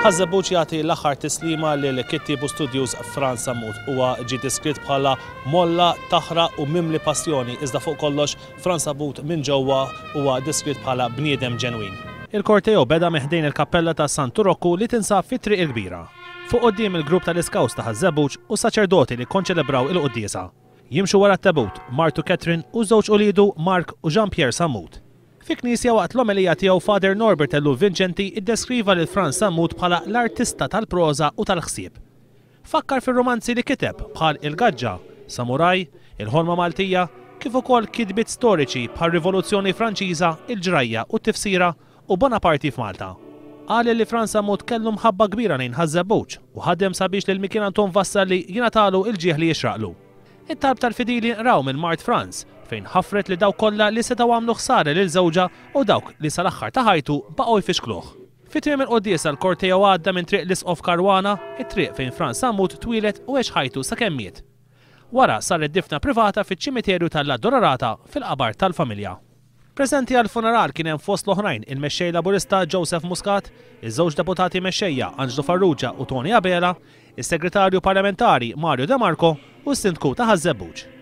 Ħaż-Żebbuġ jagħti l-aħħar tislima lil kittieb u studjuż Frans Sammut. Huwa ġie deskritt bħala molla, taħraq u mimli passjoni, iżda fuq kollox Frans Sammut minn ġewwa huwa deskritt bħala bniedem ġenwin. Il-korteo beda minn ħdejn il-kappella ta' Santu Rokku li tinsab fi Triq il-Kbira. Fuq quddiem il-grupp tal-Iscouts ta' Ħaż-Żebbuġ u s-saċerdoti li kkonċelebraw il-quddiesa. Jimxu wara t-tebut, martu Catherine u żewġ uliedu Mark u Jean Pierre Sammut. Fi knisja waqt l-omelija tiegħu Father Norbert Ellul Vincenti iddeskriva lil Frans Sammut bħala l-artista tal-proża u tal-ħsieb. Fakkar fir-rumanzi li kiteb bħal Il-Gaġġa, Samuraj, Il-Ħolma Maltija, kif ukoll kitbiet storiċi bħar-Rivoluzzjoni Franċiża, Il-Ġrajja u t-Tifsira u Bonaparti f'Malta. Qal li Frans Sammut kellu mħabba kbira lejn Ħaż-Żebbuġ u ħadem sabiex lil Mikiel Anton Vassalli jingħatalu l-ġieħ li jixraqlu. It-talb tal-fidili nqraw minn mart Frans, fejn ħafret lil dawk kollha li setgħu għamlu ħsara lil żewġha u dawk li sal-aħħar ta' ħajtu baqgħu jfixkluh. Fi tmiem il-quddiesa l-korteo għadda minn Triq l-Isqof Caruana, it-triq fejn Frans Sammut twieled u għex ħajtu sakemm miet. Wara saret difna privata fiċ-ċimiterju tal-Addolorata fil-qabar tal-familja. Preżenti għall-funeral kien hemm fost l-oħrajn il-Mexxej Laburista Joseph Muscat, iż-żewġ Deputati Mexxejja Anġlu Farrugia u Toni Abela, is-Segretarju Parlamentari Mario De Marco u s-Sindku ta' Ħaż-Żebbuġ.